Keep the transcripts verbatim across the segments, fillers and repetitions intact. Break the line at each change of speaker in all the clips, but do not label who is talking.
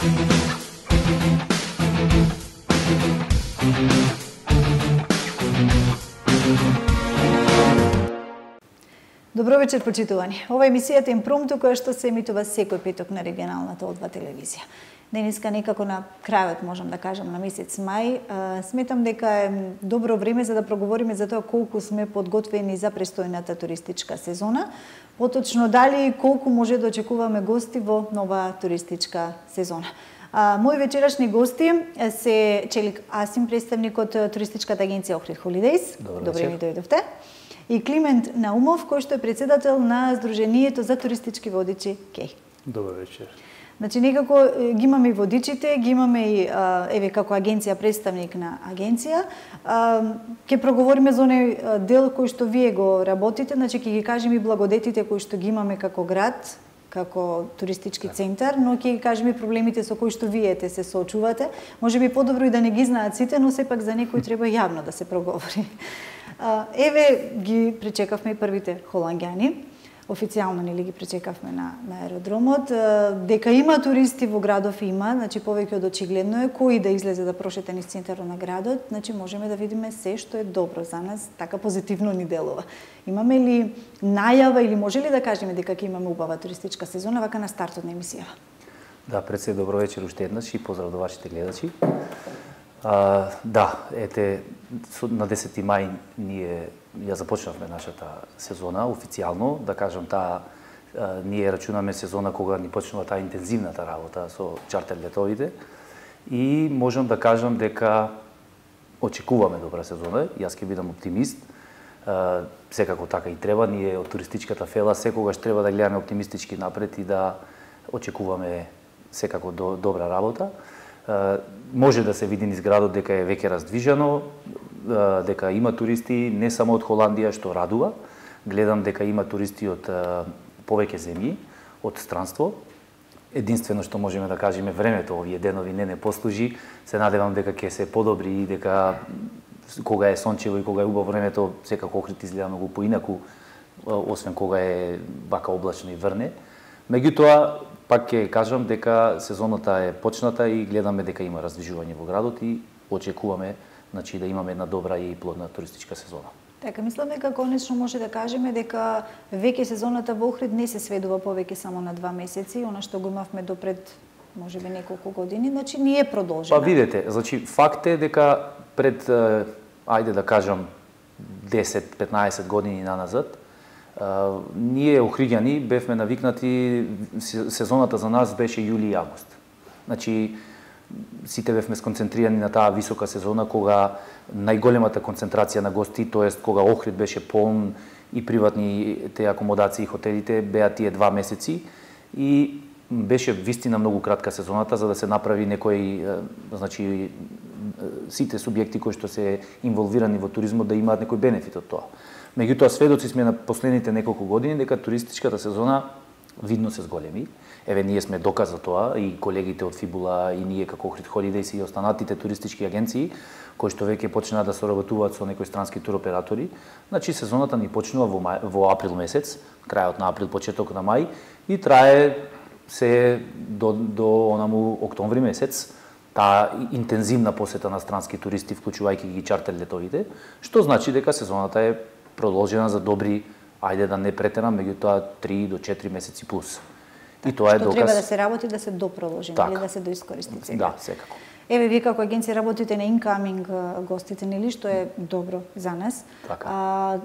Добро вечер, почитувани. Ова е емисијата Импромту, која што се емитува секој петок на регионалната О два телевизија. Денеска некако на крајот, можам да кажам, на месец мај, сметам дека е добро време за да проговориме за тоа колку сме подготвени за престојната туристичка сезона, поточно дали и колку може да очекуваме гости во нова туристичка сезона. А, мои вечерашни гости се Челик Асим, представник од туристичката агенција Охрид Холидејс. Добре ми дојдовте. И Климент Наумов, кој што е председател на Сдруженијето за туристички водичи КЕЙ.
Добар вечер.
Значи, некако ги имаме и водичите, ги имаме и, еве, како агенција, представник на агенција. Ке проговориме за оној дел кој што вие го работите, значи, ке ги кажем и благодетите кои што ги имаме како град, како туристички центар, но ќе ги кажем и проблемите со кои што вие те се соочувате. Може би подобро и да не ги знаат сите, но сепак за некој треба јавно да се проговори. Еве ги пречекавме и првите холанѓани. Официјално нели ги пречекавме на, на аеродромот. Дека има туристи во градов има, значи повеќе од очигледно е кој да излезе да прошета низ центарот на градот, значи можеме да видиме се што е добро за нас, така позитивно ни делува. Имаме ли најава или може ли да кажеме дека ќе имаме убава туристичка сезона вака на стартот на емисијава?
Да, пред се добро вечер уште еднаш и поздрав до вашите гледачи. А, да, ете, на десети мај ние ја започнавме нашата сезона официјално, да кажам таа ние рачунаме сезона кога ни почнува таа интензивната работа со чартер летовите и можам да кажам дека очекуваме добра сезона. Јас ќе бидам оптимист. Секако така и треба, ние од туристичката фела секогаш треба да гледаме оптимистички напред и да очекуваме секако до, добра работа. Може да се види низ градот дека е веќе раздвижено, дека има туристи не само од Холандија, што радува. Гледам дека има туристи од повеќе земји, од странство. Единствено што можеме да кажеме, времето овие денови не не послужи. Се надевам дека ќе се подобри и дека кога е сончево и кога е убаво времето, секако Охрид изгледа многу поинаку, освен кога е вака облачно и врне. Меѓутоа, пак ќе кажам дека сезоната е почната и гледаме дека има раздвижување во градот и очекуваме, значи, да имаме една добра и плодна туристичка сезона.
Така, мислам дека конечно може да кажеме дека веќе сезоната во Охрид не се сведува повеќе само на два месеци, она што го имавме допред можеби неколку години, значи ние продолжиме.
Па видете, значи факт е дека пред ајде да кажам десет-петнаесет години наназад, Uh, ние охриѓани бевме навикнати, сезоната за нас беше јули и август. Значи, сите бевме сконцентрирани на таа висока сезона кога најголемата концентрација на гости, тоест кога Охрид беше полн и приватни те акомодации и хотелите, беа тие два месеци и беше вистина многу кратка сезоната за да се направи некој, значи, сите субјекти кои што се инволвирани во туризмот да имаат некој бенефит од тоа. Меѓутоа, сведоци сме на последните неколку години дека туристичката сезона видно се зголеми. Еве, ние сме доказ за тоа, и колегите од Фибула, и ние како Охрид Холидејс и останатите туристички агенции, кои што веќе почнаа да соработуваат со некои странски туроператори. Значи, сезоната ни почнува во, мај, во април месец, крајот на април, почеток на мај, и трае се до, до онаму октомври месец, таа интензивна посета на странски туристи, вклучувајќи ги чартер летовите, што значи дека сезоната е продолжена за добри, ајде да не претерам, меѓутоа три до четири месеци плюс.
Так, и тоа е доказ. Што треба да се работи да се допродолжи, или да се доискористи сега.
Да, секако.
Еве, вие како агенција работите на incoming гостите, нели, што е добро за нас.
Така.
А,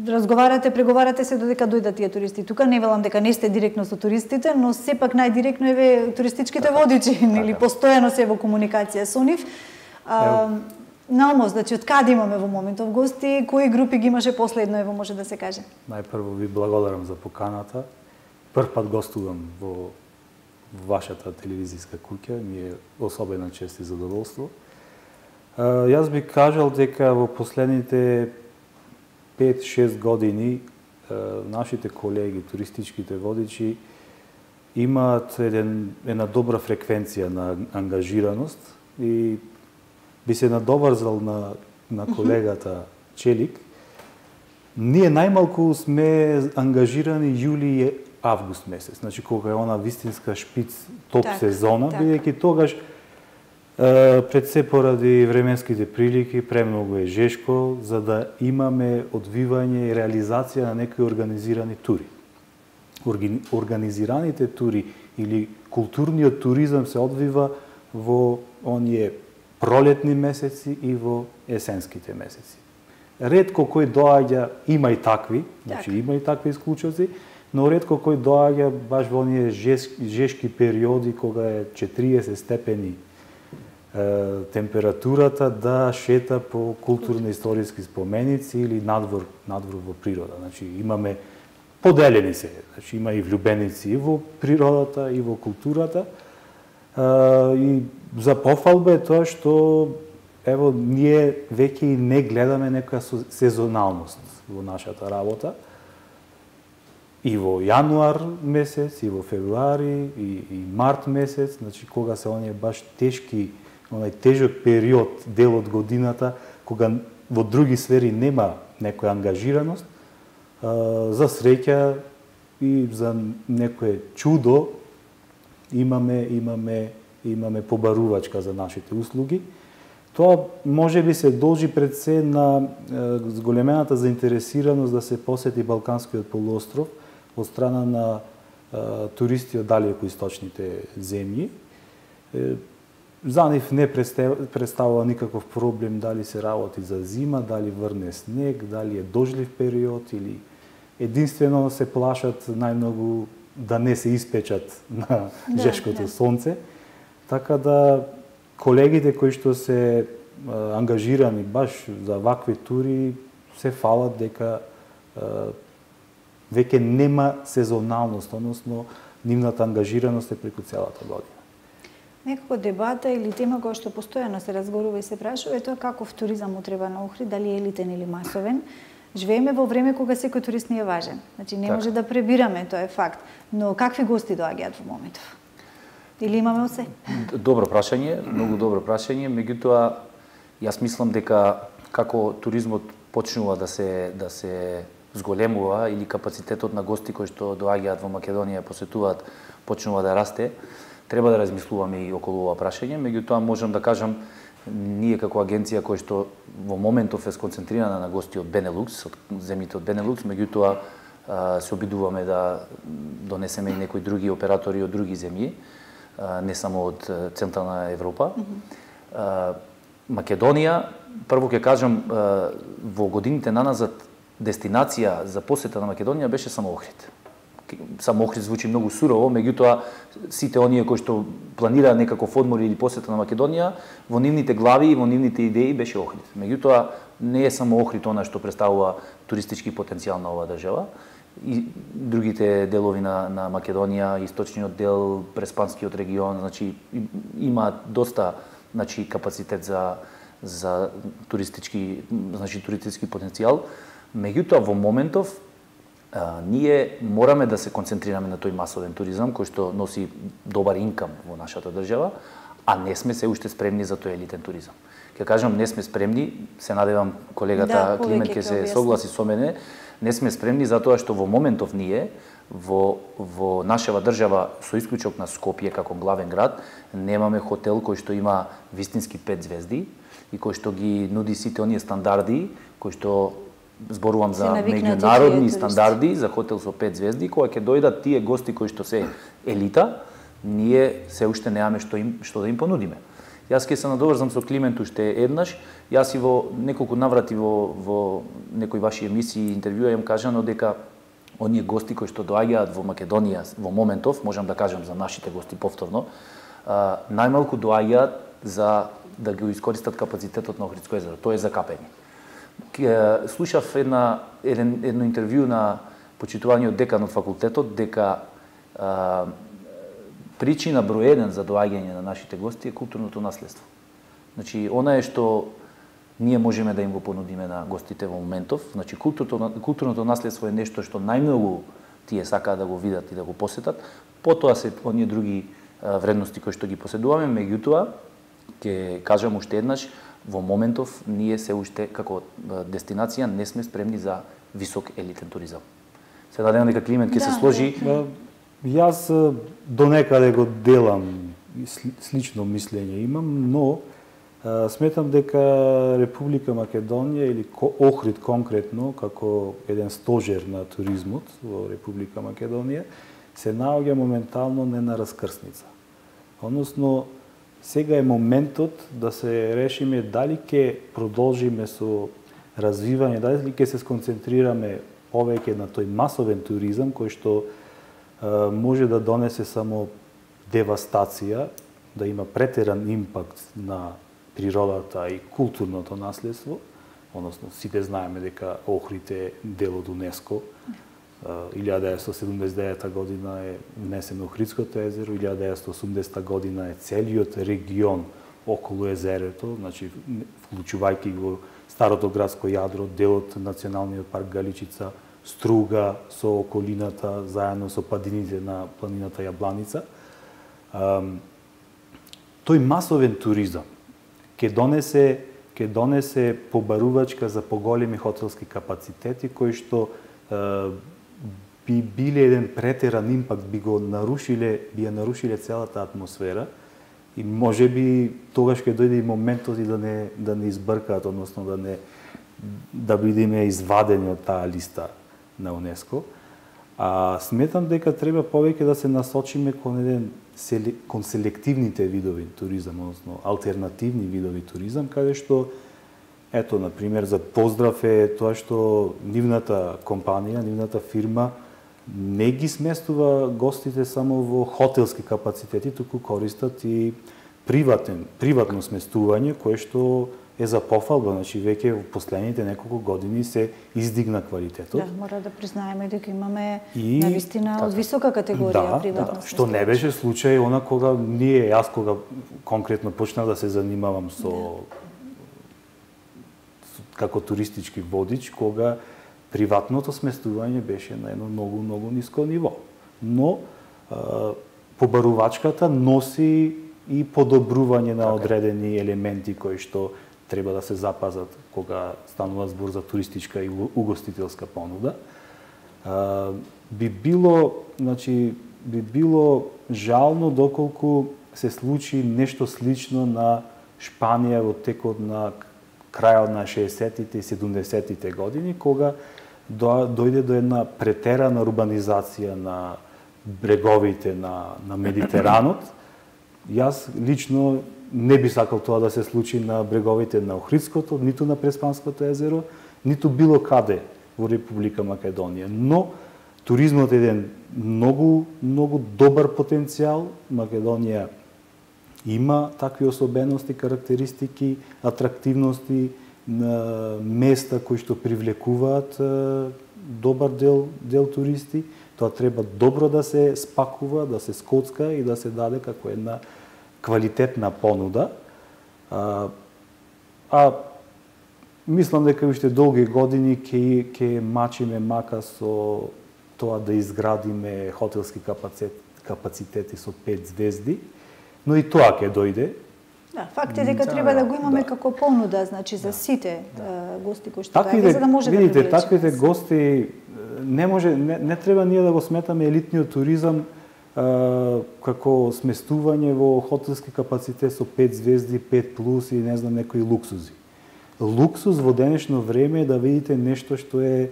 разговарате, преговарате се додека дојдат тие туристи. Тука не велам дека не сте директно со туристите, но сепак најдиректно еве туристичките така, водичи, нели, така, постојано се во комуникација со нив. А, Наумов, значи, од каде имаме во моментов гости, кои групи ги имаше последно, ево може да се каже?
Најпрво ви благодарам за поканата. Прв пат гостувам во вашата телевизијска куќа, ми е особена чест и задоволство. Јас би кажал дека во последните пет-шест години нашите колеги, туристичките водичи, имаат еден, една добра фреквенција на ангажираност и би се надоврзал на, на колегата Челик. Ние најмалку сме ангажирани јули август месец, значи кога е она вистинска шпиц топ
так,
сезона,
так.
бидејќи тогаш пред се поради временските прилики премногу е жешко за да имаме одвивање и реализација на некои организирани тури. Организираните тури или културниот туризам се одвива во оние пролетни месеци и во есенските месеци. Ретко кој доаѓа, има и такви, значи има и такви исклучоци, но ретко кој доаѓа баш во оние жешки периоди кога е четириесет степени е, температурата да шета по културно-историски споменици или надвор, надвор во природа. Значи имаме поделени се, значи има и влюбеници и во природата и во културата. А, и за пофалба е тоа што ево ние веќе и не гледаме некоја сезоналност во нашата работа. И во јануар месец, и во февруари, и, и март месец, значи кога се оние баш тешки, онај тежок период, дел од годината, кога во други сфери нема некоја ангажираност, а, за среќа и за некое чудо имаме имаме имаме побарувачка за нашите услуги. Тоа може би се должи пред се на е, зголемената заинтересираност да се посети Балканскиот полуостров од страна на е, туристи од далеко источните земји. Е, за нив не представува никаков проблем дали се работи за зима, дали врне снег, дали е дожлив период или единствено се плашат најмногу да не се испечат на
да,
жешкото
да.
сонце. Така да колегите кои што се а, ангажирани баш за вакви тури се фалат дека а, веќе нема сезоналност, односно нивната ангажираност е преку целата година.
Некако дебата или тема која што постојано се разговарува и се прашува е тоа каков туризам му треба на Охрид, дали е елитен или масовен. Живееме во време кога секој турист не е важен. Значи не
так.
може да пребираме, тоа е факт. Но какви гости доаѓаат во моментов? Или имаме осе?
Добро прашање, многу добро прашање, меѓутоа јас мислам дека како туризмот почнува да се да се зголемува или капацитетот на гости кои што доаѓаат во Македонија посетуваат почнува да расте, треба да размислуваме и околу ова прашање, меѓутоа можам да кажам ние како агенција која што во моментов е сконцентрирана на гости од Бенелукс, од земјите од Бенелукс, меѓутоа се обидуваме да донесеме и некои други оператори од други земји, не само од Централна Европа. Mm-hmm. Македонија, прво ќе кажам, во годините наназад дестинација за посета на Македонија беше само Охрид. Само Охрид звучи многу сурово, меѓутоа сите оние кои што планираа некаков одмор или посета на Македонија, во нивните глави и во нивните идеи беше Охрид. Меѓутоа не е само Охрид она што представува туристички потенцијал на оваа држава. И другите делови на, на Македонија, источниот дел, Преспанскиот регион, значи има доста значи капацитет за за туристички, значи туристички потенцијал. Меѓутоа во моментов а, ние мораме да се концентрираме на тој масовен туризам кој што носи добар инкам во нашата држава, а не сме се уште спремни за тој елитен туризам. Ќе кажам не сме спремни, се надевам колегата
да,
Климент ќе се согласи со мене. Не сме спремни затоа што во моментов ние во во нашава држава со исклучок на Скопје како главен град немаме хотел кој што има вистински пет звезди и кој што ги нуди сите оние стандарди кои што зборувам за меѓународни стандарди за хотел со пет звезди, кога ќе дојдат тие гости кои што се елита, ние се уште немаме што им што да им понудиме. Јас ќе се надоврзам со Климент уште еднаш. Јас и во неколку наврати во, во некои ваши емисии и интервјуа им кажано дека оние гости кои што доаѓаат во Македонија во моментов, можам да кажам за нашите гости повторно, а, најмалку доаѓаат за да го искористат капацитетот на Охридско езеро. Тоа е за капење. Слушав една, еден, едно интервју на почитуваниот декан од факултетот дека а, причина број еден за доаѓање на нашите гости е културното наследство. Значи, она е што ние можеме да им го понудиме на гостите во моментов. Значи, културното, културното наследство е нешто што најмногу тие сакаат да го видат и да го посетат. Потоа се оние други а, вредности кои што ги поседуваме, меѓутоа, ќе кажам уште еднаш, во моментов ние се уште како дестинација не сме спремни за висок елитен туризам. Се надевам дека Климент ќе
Да,
се сложи.
да.
Јас донекаде го делам, слично мислење имам, но а, сметам дека Република Македонија или Охрид конкретно, како еден стожер на туризмот во Република Македонија, се наоѓа моментално не на раскрсница. Односно, сега е моментот да се решиме дали ќе продолжиме со развивање, дали ќе се сконцентрираме повеќе на тој масовен туризам кој што а, може да донесе само девастација, да има претеран импакт на природата и културното наследство, односно сите знаеме дека Охрид е дел од УНЕСКО. илјада деветстотини седумдесет и девета година е внесено Охридското езеро, илјада деветстотини осумдесета година е целиот регион околу езерото, значи вклучувајќи го старото градско јадро, делот националниот парк Галичица, Струга со околината, заедно со падините на планината Јабланица. Тој масовен туризам ќе донесе ќе донесе побарувачка за поголеми хотелски капацитети кои што е, би биле еден претеран импакт, би го нарушиле, би ја нарушиле целата атмосфера и можеби тогаш ќе дојде и моментот и да не да не избркаат, односно да не да бидеме извадени од таа листа на УНЕСКО. А сметам дека треба повеќе да се насочиме кон еден кон селективните видови туризам, односно алтернативни видови туризам, каде што ето на пример за Поздрав е тоа што нивната компанија, нивната фирма не ги сместува гостите само во хотелски капацитети, туку користат и приватен, приватно сместување кое што е за пофалба, значи веќе во последните неколку години се издигна квалитетот.
Да, мора да признаеме дека имаме
и
навистина од висока категорија
да,
приватно
да, што не беше случај она кога ние, јас кога конкретно почнав да се занимавам со да. како туристички водич, кога приватното сместување беше на едно многу, многу ниско ниво. Но а, побарувачката носи и подобрување на одредени елементи кои што треба да се запазат кога станува збор за туристичка и угостителска понуда. А, би било, значи, би било жално доколку се случи нешто слично на Шпанија во текот на крајот на шеесеттите и седумдесеттите години, кога дојде до една претерана урбанизација на бреговите на, на Медитеранот. Јас лично не би сакал тоа да се случи на бреговите на Охридското, ниту на Преспанското езеро, ниту било каде во Република Македонија. Но туризмот е еден многу, многу добар потенцијал. Македонија има такви особености, карактеристики, атрактивности, на места кои што привлекуваат добар дел, дел туристи. Тоа треба добро да се спакува, да се скоцка и да се даде како една квалитетна понуда. А, а мислам дека уште долги години ќе ќе мачиме мака со тоа да изградиме хотелски капацитет, капацитети со пет звезди, но и тоа ќе дојде.
Да, факт е дека
да,
треба да го имаме
да.
како понуда, значи за сите
да.
гости кои што
Таквите,
доаѓаат, за да може
видите,
да привлечеме.
таквите гости не може не, не треба ние да го сметаме елитниот туризам а, како сместување во хотелски капацитет со пет звезди, пет плюс и не знам некои луксузи. Луксуз во денешно време е да видите нешто што е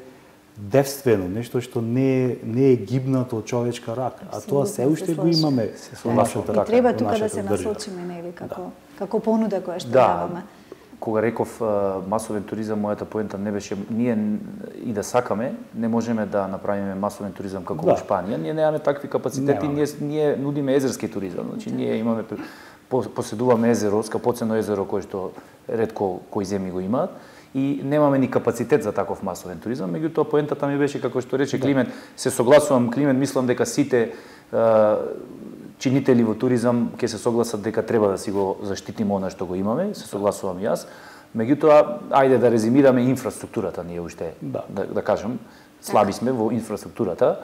девствено, нешто што не е, не е гибнато од човечка рака, а тоа се уште го имаме
со
нашата
рака. И треба тука да се
држава.
насочиме, нели, како да. како понуда која што
да.
даваме.
Кога реков масовен туризам, мојата поента не беше ние и да сакаме, не можеме да направиме масовен туризам како
да.
во Шпанија. Ние немаме такви капацитети, ние ние нудиме езерски туризам. Значи да. ние имаме поседуваме езеро, скапоцено езеро кое што ретко кои земји го имаат и немаме ни капацитет за таков масовен туризам. Меѓутоа поентата ми беше како што рече да. Климент, се согласувам Климент, мислам дека сите чинители во туризам ќе се согласат дека треба да си го заштитиме она што го имаме, се согласувам јас. Меѓутоа, ајде да резимираме инфраструктурата, ние уште, да, да, да кажем, слаби сме во инфраструктурата.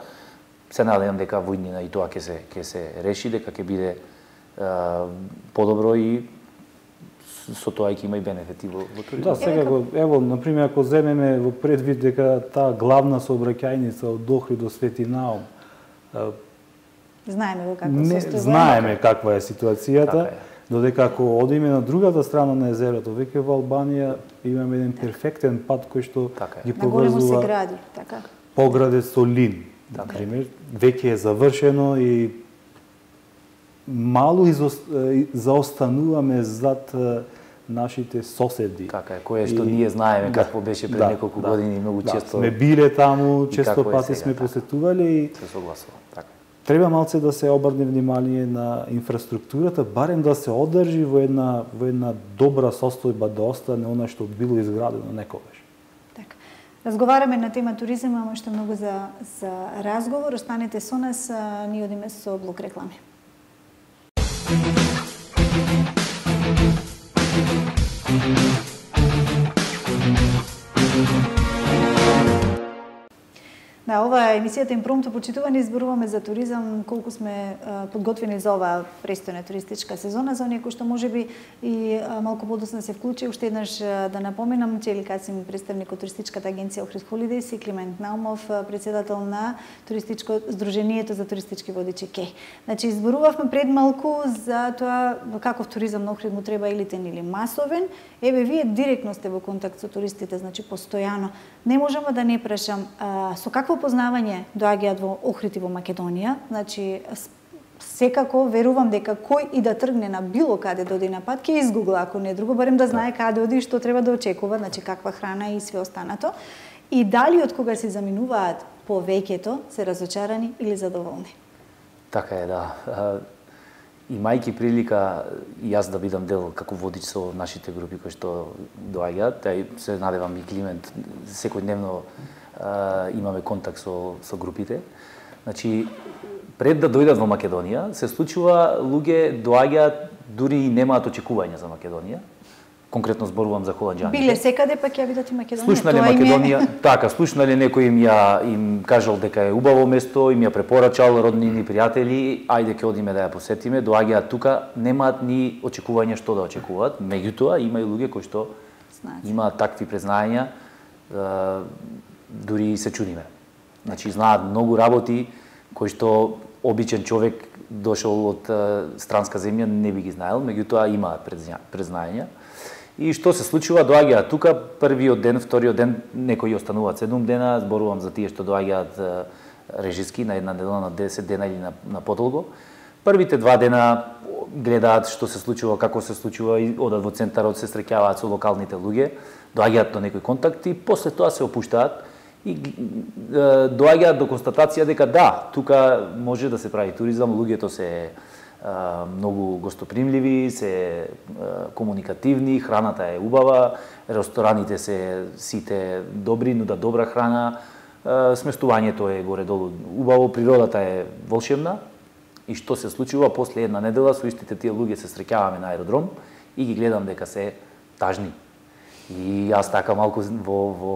Се надевам дека во иднина и тоа ќе се ќе се реши, дека ќе биде е, подобро и со тоа ќе има и бенефити во, во туризмот.
Да, секако, ево, например, ако земеме во предвид дека таа главна сообраќајница од Охрид до Свети Наум,
знаеме во какво
не,
состојба.
знаеме каква е ситуацијата,
така е.
додека ако одиме на другата страна на езерото, веќе во Албанија имаме еден перфектен пат кој што
така
ги
На големо се
поврзува
гради, така.
Поградец со Лин.
Така е.
Например, веќе е завршено и малу изост... заостануваме зад нашите соседи.
Така е, кое што
И-
ние знаеме
да,
какво беше пред
да,
неколку
да,
години, многу
да,
често
сме биле таму,
и
често
како е
пати
сега,
сме
така.
посетувале и
се согласувам. Така.
треба малце да се обрне внимание на инфраструктурата, барем да се одржи во една во една добра состојба, да остане она што било изградено некогаш.
Така. Разговараме на тема туризам, ама што многу за за разговор. Останете со нас, а, ние одиме со блок реклами. Да, ова е емисијата Импромто, почитувани, изборуваме за туризам, колку сме а, подготвени за оваа престојна туристичка сезона, за оние кои што можеби и а, малку подоцна се вклучи. Уште еднаш а, да напоменам, Чели Касим, представник од туристичката агенција Охрид Холидејс, и Климент Наумов, а, председател на туристичко Сдруженијето за туристички водичи КЕ. Значи, изборувавме пред малку за тоа каков туризам на Охрид му треба, елитен или масовен. Еве, вие директно сте во контакт со туристите, значи постојано. Не можам да не прашам, а, со какво познавање доаѓаат во Охрид и во Македонија? Значи, секако верувам дека кој и да тргне на било каде да оди на пат, ќе изгугла, ако не друго, барем да знае каде оди и што треба да очекува, значи каква храна и све останато. И дали од кога се заминуваат повеќето се разочарани или задоволни?
Така е, да. Имајќи прилика и јас да бидам дел како водич со нашите групи кои што доаѓаат, и се надевам и Климент, секојдневно имаме контакт со, со групите. Значи, пред да дојдат во Македонија, се случува луѓе доаѓаат дури и немаат очекувања за Македонија. Конкретно зборувам за холанџаните.
Биле секаде, па ќе бидат и Македонија.
Слушнале
Тоа им е-
Македонија, така, слушнале некој им ја им кажал дека е убаво место, им ја препорачал роднини, пријатели, ајде ќе одиме да ја посетиме, доаѓаат тука, немаат ни очекувања што да очекуваат, меѓутоа има и луѓе кои што
Знаат.
имаат такви признања, е, дури се чудиме. Значи знаат многу работи кои што обичен човек дошол од е, странска земја не би ги знаел, меѓутоа имаат признања. И што се случува, доаѓаат тука, првиот ден, вториот ден, некои остануваат седум дена, зборувам за тие што доаѓаат е, режиски на една недела, на десет дена или на, на подолго. Првите два дена гледаат што се случува, како се случува, и одат во центарот, се среќаваат со локалните луѓе, доаѓаат до некои контакти, после тоа се опуштаат и е, доаѓаат до констатација дека да, тука може да се прави туризам, луѓето се многу гостопримливи, се комуникативни, храната е убава, рестораните се сите добри, нудат добра храна, сместувањето е горе-долу убаво, природата е волшебна. И што се случува после една недела, со истите тие луѓе се среќаваме на аеродром и ги гледам дека се тажни. И јас така малку во, во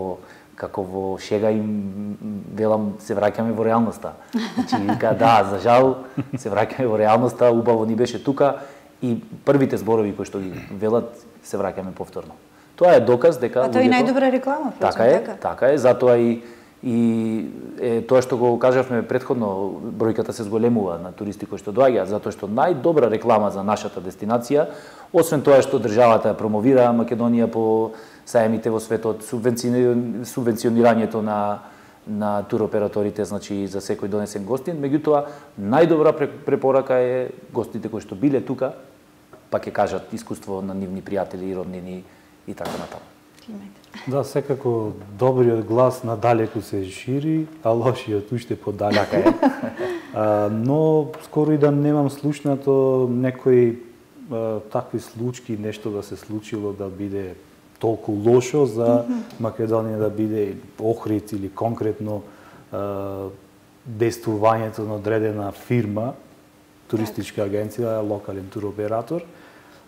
како во шега им велам, се враќаме во реалноста. Значи, вика, да, за жал, се враќаме во реалноста, убаво ни беше тука и првите зборови кои што ги велат, се враќаме повторно. Тоа е доказ дека
А тоа е
луѓето...
најдобра реклама,
Така е, така, така е, затоа и и е, тоа што го кажавме претходно, бројката се зголемува на туристи кои што доаѓаат, затоа што најдобра реклама за нашата дестинација, освен тоа што државата ја промовира Македонија по саемите во светот, субвенционирањето на на туроператорите, значи за секој донесен гостин, меѓутоа најдобра препорака е гостите кои што биле тука, па ќе кажат искуство на нивни пријатели и роднини и така натаму.
Да, секако добриот глас надалеку се шири, а лошиот уште подалеку. а, но скоро и да немам слушнато некои а, такви случаи, нешто да се случило да биде толку лошо за Македонија, да биде Охрид или конкретно а, действувањето на одредена фирма, туристичка агенција, локален туроператор,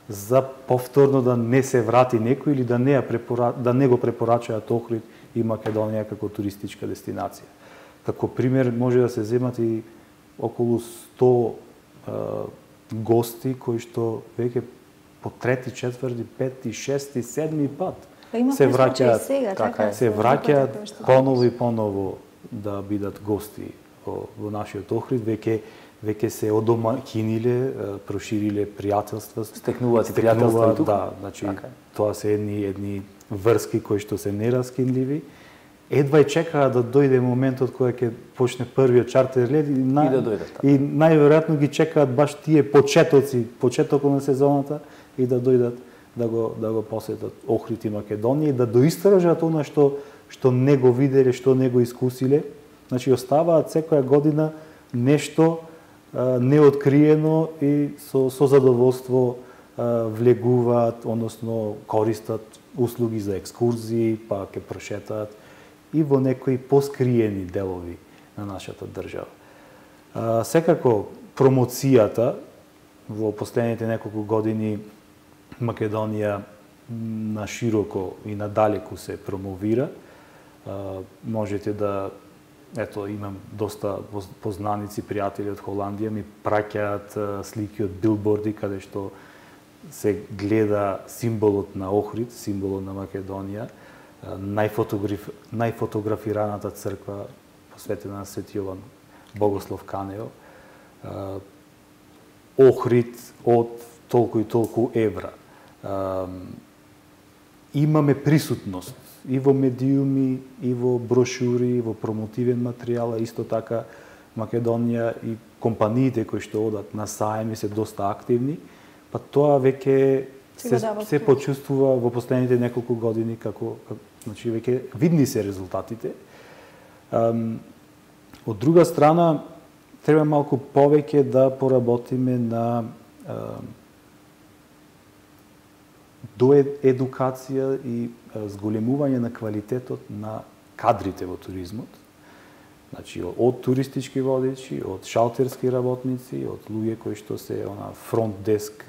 за повторно да не се врати некој или да не, ја препора... да не го препорачаат Охрид и Македонија како туристичка дестинација. Како пример може да се земат и околу сто е, гости кои што веќе по трети, четврти, пети, шести, седми пат
Па има
се враќаат,
сега,
така е.
се враќаат поново и поново да бидат гости во, во нашиот Охрид, веќе веќе се одомаќиниле, прошириле пријателства,
стекнуваат пријателства и тука.
Да, значи
така.
тоа се едни едни врски кои што се нераскинливи. Едва и чекаат да дојде моментот кога ќе почне првиот чартер лет и, на...
и да дојдат. Така.
И најверојатно ги чекаат баш тие почетоци, почетокот на сезоната и да дојдат да го да го посетат Охрид и Македонија и да доистражат она што што не го виделе, што не го искусиле. Значи оставаат секоја година нешто а, неоткриено и со со задоволство а, влегуваат, односно користат услуги за екскурзии, па ќе прошетаат и во некои поскриени делови на нашата држава. А, секако промоцијата во последните неколку години Македонија на широко и надалеку се промовира. А, можете да, ето, имам доста познаници, пријатели од Холандија, ми праќаат слики од билборди каде што се гледа символот на Охрид, символот на Македонија, најфотограф... најфотографираната црква посветена на Свети Јован Богослов Канео, Охрид од толку и толку евра. Имаме присутност и во медиуми, и во брошури, и во промотивен материјал, исто така Македонија и компаниите кои што одат на саеми се доста активни, па тоа веќе се, се почувствува во последните неколку години како, како значи веќе видни се резултатите. Um, од друга страна, треба малку повеќе да поработиме на uh, до едукација и зголемување на квалитетот на кадрите во туризмот. Значи, од туристички водичи, од шалтерски работници, од луѓе кои што се она фронт деск,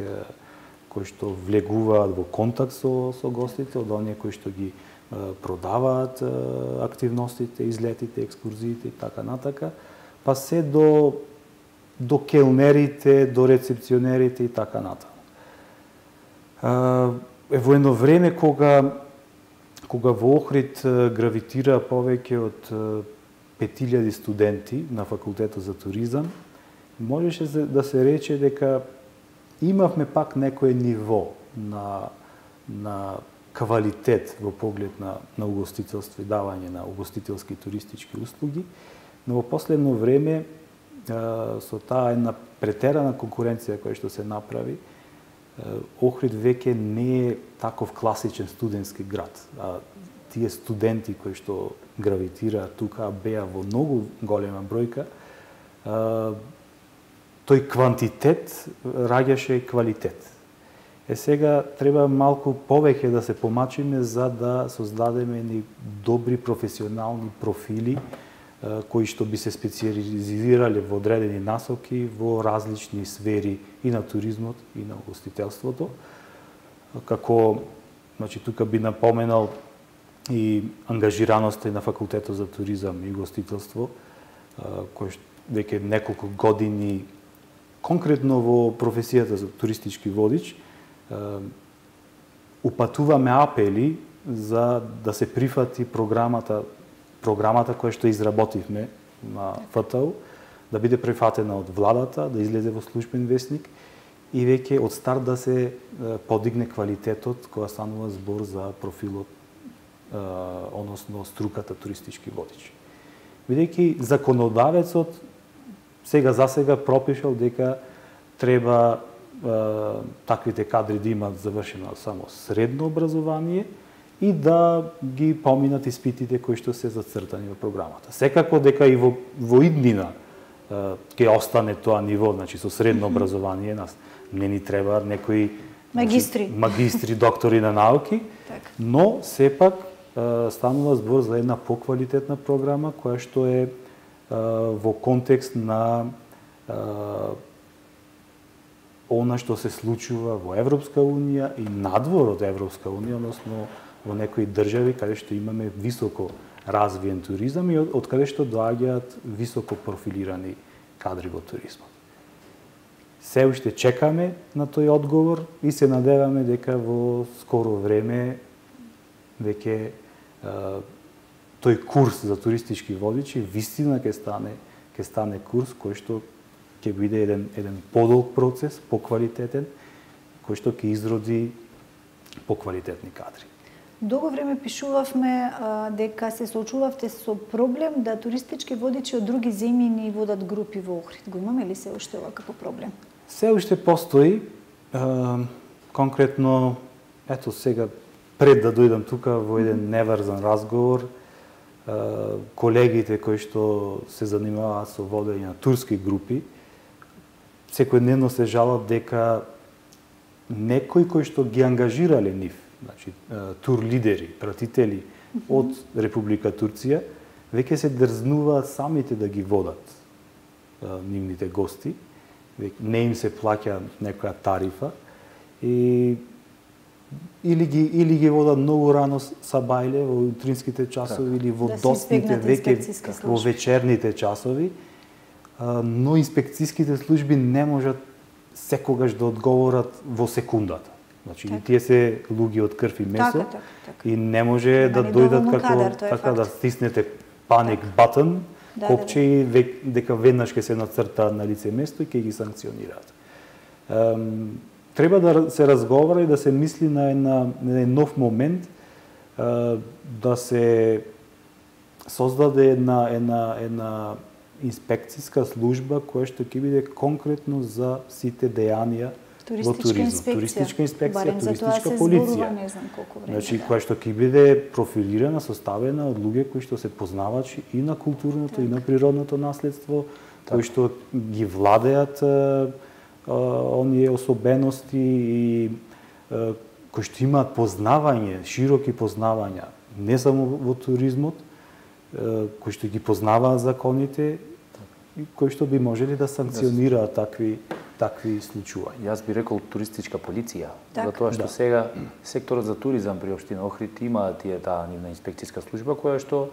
кои што влегуваат во контакт со, со гостите, од оние кои што ги продаваат активностите, излетите, екскурзиите и така натака, па се до до келнерите, до рецепционерите и така натака. Е во едно време кога кога во Охрид гравитира повеќе од пет илјади студенти на факултетот за туризам, можеше да се рече дека имавме пак некое ниво на на квалитет во поглед на на угостителство и давање на угостителски туристички услуги, но во последно време со таа една претерана конкуренција која што се направи, Охрид веќе не е таков класичен студентски град. А тие студенти кои што гравитираат тука беа во многу голема бројка. А, тој квантитет раѓаше квалитет. Е сега треба малку повеќе да се помачиме за да создадеме ни добри професионални профили кои што би се специализирале во одредени насоки во различни сфери и на туризмот и на угостителството. Како, значи тука би напоменал и ангажираноста на факултетот за туризам и угостителство, кој веќе неколку години конкретно во професијата за туристички водич упатуваме апели за да се прифати програмата програмата која што изработивме на ФТУ, да биде прифатена од владата, да излезе во службен весник и веќе од старт да се подигне квалитетот кога станува збор за профилот, односно струката туристички водичи. Бидејќи законодавецот сега за сега пропишал дека треба таквите кадри да имаат завршено само средно образование и да ги поминат испитите кои што се зацртани во програмата. Секако дека и во, во иднина ќе остане тоа ниво, значи со средно образование, нас не ни треба некои
магистри,
значи, магистри, доктори на науки,
так. Но
сепак станува збор за една поквалитетна програма која што е во контекст на она што се случува во Европска унија и надвор од Европска унија, односно во некои држави каде што имаме високо развиен туризам и од, од каде што доаѓаат високо профилирани кадри во туризмот. се уште чекаме на тој одговор и се надеваме дека во скоро време веќе тој курс за туристички водичи вистина ќе стане ќе стане курс кој што ќе биде еден еден подолг процес, поквалитетен, кој што ќе изроди поквалитетни кадри.
Долго време пишувавме а, дека се соочувавте со проблем да туристички водичи од други земји ни водат групи во Охрид. Го имаме ли се уште ова како проблем?
Се уште постои. А, конкретно, ето сега, пред да дојдам тука во еден неврзан разговор, а, колегите кои што се занимаваат со водење на турски групи, секојдневно се жалат дека некои кои што ги ангажирале нив, значи тур лидери, пратители mm -hmm. од Република Турција, веќе се дрзнуваат самите да ги водат а, нивните гости, не им се плаќа некоја тарифа и или ги или ги водат многу рано са бајле во утринските часови так. Или во
да
доцните веќе во вечерните часови, а, но инспекцијските служби не можат секогаш да одговорат во секундата. Значи, так. И тие се луѓе од крв и месо,
така, така, така.
И не може да, да дојдат како кадар, така да стиснете паник батон, да, копче да, да. И дека веднаш ќе се нацрта на лице место и ќе ги санкционираат. Ем, треба да се разговара и да се мисли на една, на еден нов момент, е, да се создаде една една една инспекцијска служба која што ќе биде конкретно за сите дејанија во туризмот, туристичка инспекција, туристичка полиција.
Не знам колку време.
Значи
да.
која што ќе биде профилирана, составена од луѓе кои што се познавачи и на културното так. И на природното наследство, так. Кои што ги владеат а, а, оние особености и а, кои што имаат познавање, широки познавања, не само во туризмот, а, кои што ги познаваат законите и кои што би можели да санкционираат такви такви случувања.
Јас би рекол туристичка полиција,
так.
Затоа што
да.
Сега секторот за туризам при општина Охрид има тие таа нивна инспекцијска служба која што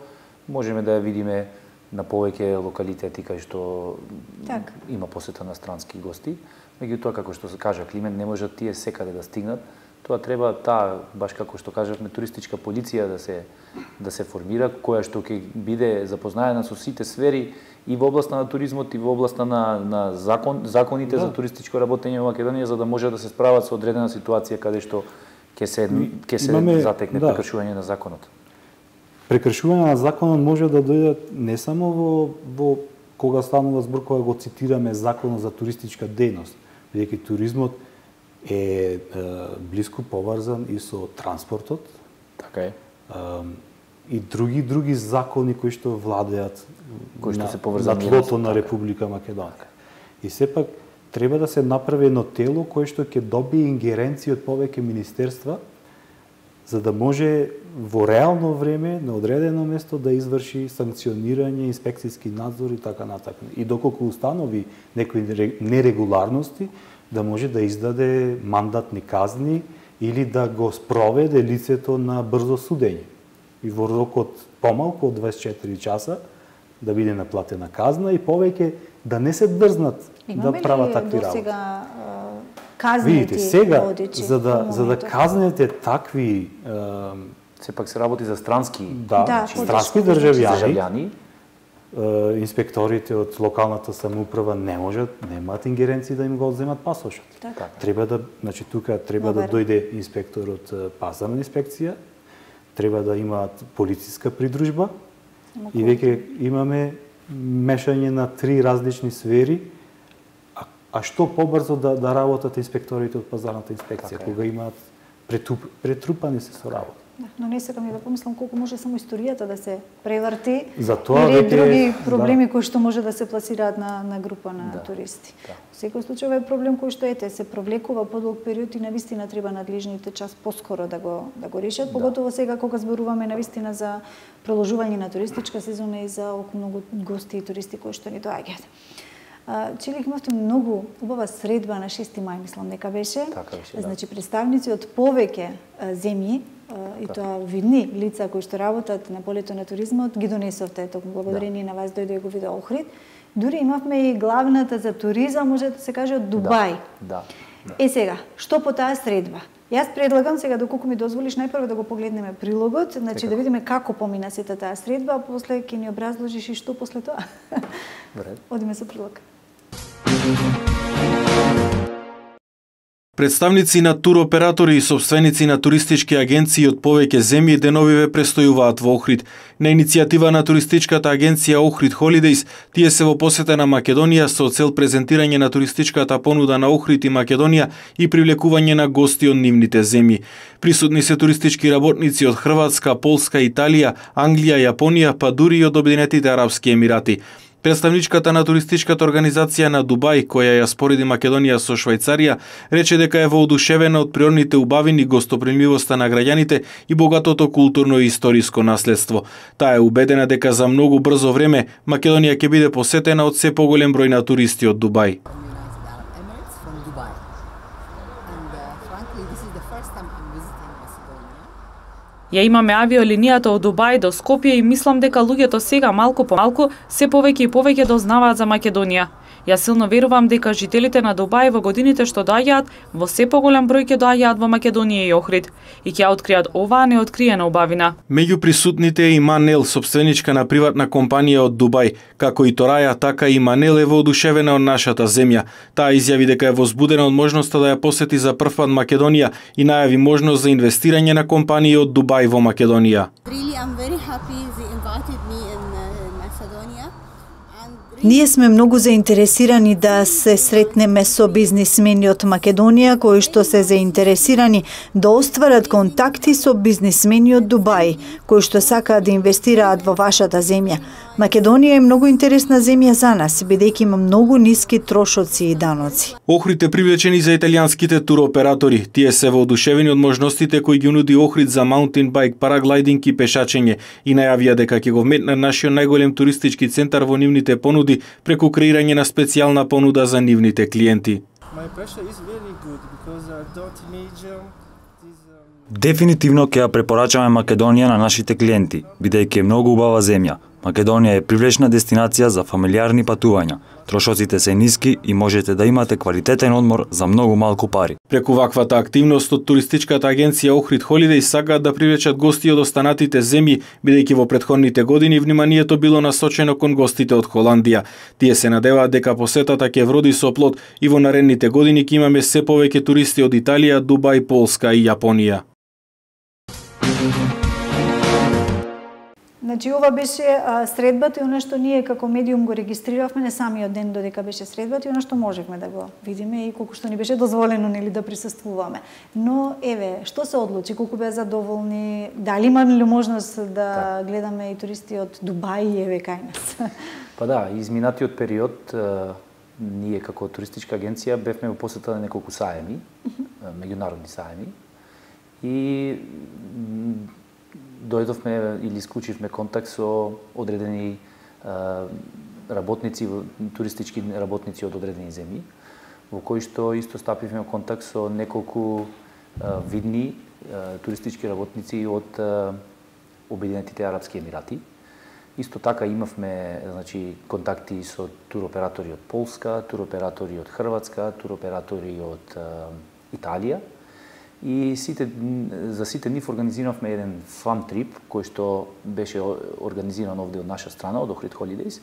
можеме да ја видиме на повеќе локалитети кај што так. Има посета на странски гости. Меѓутоа, како што се кажа Климент, не можат тие секаде да стигнат. Тоа треба таа, баш како што кажавме, туристичка полиција да се да се формира, која што ќе биде запознаена со сите сфери и во областа на туризмот и во областа на на закон законите да. За туристичко работење во Македонија, за да може да се справат со одредена ситуација каде што ќе се ќе се Имаме, затекне да. Прекршување на законот.
Прекршување на законот може да дојде не само во во кога станува збор кога го цитираме законот за туристичка дејност, бидејќи туризмот е, е блиску поврзан и со транспортот.
Така е.
Е, и други други закони кои што владеат
кои што
на,
се поврзани
на тлото на Република Македонија. И сепак треба да се направи едно тело кое што ќе добие ингеренција од повеќе министерства за да може во реално време на одредено место да изврши санкционирање, инспекцијски надзор и така натаму. И доколку установи некои нерегуларности, да може да издаде мандатни казни или да го спроведе лицето на брзо судење. И во рокот помалку од дваесет и четири часа да биде наплатена казна и повеќе да не се дрзнат да прават такви работи.
Сега казнети
Видите, сега
водичи,
за да за да казнете такви е,
сепак се работи за странски
да, да странски државјани. Инспекторите од локалната самоуправа не можат, немаат ингеренција да им го одземат пасошот.
Так.
Треба да, значи тука треба Добре. Да дојде инспектор од пазарна инспекција, треба да имаат полициска придружба и веќе имаме мешање на три различни сфери. А, а што побрзо да да работат инспекторите од пазарната инспекција, така кога имаат претуп, претрупани се со работа.
Да, но не сакам и да помислам колку може само историјата да се преврти
Затоа
или
веќе,
други проблеми
да.
Кои што може да се пласираат на, на група на да. Туристи. Да. Во секој случај е проблем кој што ете се провлекува подолг период и навистина треба надлежните час поскоро да го да го решат, да. Поготово сега кога зборуваме навистина за продолжување на туристичка сезона и за околу многу гости и туристи кои што ни доаѓаат. Челик имавте многу убава средба на шести мај, мислам дека беше.
Така беше, да.
Значи представници од повеќе земји и тоа видни лица кои што работат на полето на туризмот ги донесовте, токму благодарение да. На вас дојде и го виде Охрид. Дури имавме и главната за туризам, може да се каже, од Дубај.
Да, да.
Е сега, што по таа средба? Јас предлагам сега, доколку ми дозволиш, најпрво да го погледнеме прилогот, значи така, да видиме како помина сета таа средба, а после ќе ни образложиш и што после тоа.
Добре.
Одиме со прилог.
Представници на туроператори и собственици на туристички агенции од повеќе земји деновиве престојуваат во Охрид. На иницијатива на туристичката агенција Охрид Holidays, тие се во посета на Македонија со цел презентирање на туристичката понуда на Охрид и Македонија и привлекување на гости од нивните земји. Присутни се туристички работници од Хрватска, Полска, Италија, Англија, Јапонија, па дури и од Обединетите Арапски Емирати. Представничката на туристичката организација на Дубај, која ја спореди Македонија со Швајцарија, рече дека е воодушевена од природните убавини, гостопримливоста на граѓаните и богатото културно и историско наследство. Таа е убедена дека за многу брзо време Македонија ќе биде посетена од се поголем број на туристи од Дубај.
Ја имаме авиолинијата од Дубај до Скопје и мислам дека луѓето сега малку по малку се повеќе и повеќе дознаваат за Македонија. Јас силно верувам дека жителите на Дубај во годините што доаѓаат во се поголем број ќе доаѓаат во Македонија и Охрид и ќе откријат оваа неоткриена убавина.
Меѓу присутните е и Манел, собственичка на приватна компанија од Дубај. Како и Тораја, така и Манел е воодушевена од нашата земја. Таа изјави дека е возбудена од можноста да ја посети за прв пат Македонија и најави можност за инвестирање на компании од Дубај во Македонија.
Ние сме многу заинтересирани да се сретнеме со бизнисмени од Македонија кои што се заинтересирани да остварат контакти со бизнисмени од Дубај, кои што сакаат да инвестираат во вашата земја. Македонија е многу интересна земја за нас, бидејќи има многу ниски трошоци и даноци.
Охрид е привлечени за италијанските туроператори. Тие се воодушевени од можностите кои ги нуди Охрид за маунтин байк, параглайдинг и пешачење и најавија дека ќе го вметнат нашиот најголем туристички центар во нивните понуди преку креирање на специјална понуда за нивните клиенти.
Дефинитивно ќе ја препорачаме Македонија на нашите клиенти, бидејќи е многу убава земја. Македонија е привлечна дестинација за фамилиарни патувања. Трошоците се ниски и можете да имате квалитетен одмор за многу малку пари.
Преку ваквата активност од туристичката агенција Охрид Holidays сакаат да привлечат гости од останатите земји, бидејќи во претходните години вниманието било насочено кон гостите од Холандија. Тие се надеваат дека посетата ќе вроди со плод и во наредните години ќе имаме се повеќе туристи од Италија, Дубај, Полска и Јапонија.
Значи, ова беше а, средбата и оно што ние како медиум го регистриравме не самиот ден додека беше средбата и оно што можевме да го видиме и колку што ни беше дозволено нели да присуствуваме. Но еве, што се одлучи, колку беа задоволни, дали имаме ли можност да так. гледаме и туристи од Дубај еве кај нас?
Па да, изминатиот период ние како туристичка агенција бевме во посета на неколку саеми, меѓународни саеми и дојдовме или исклучивме контакт со одредени работници, туристички работници од одредени земји, во кои што исто стапивме контакт со неколку видни туристички работници од Обединетите Арапски Емирати. Исто така имавме значи контакти со туроператори од Полска, туроператори од Хрватска, туроператори од Италија. И сите, за сите нив организиравме еден фан трип, кој што беше организиран овде од наша страна, од Охрид Holidays.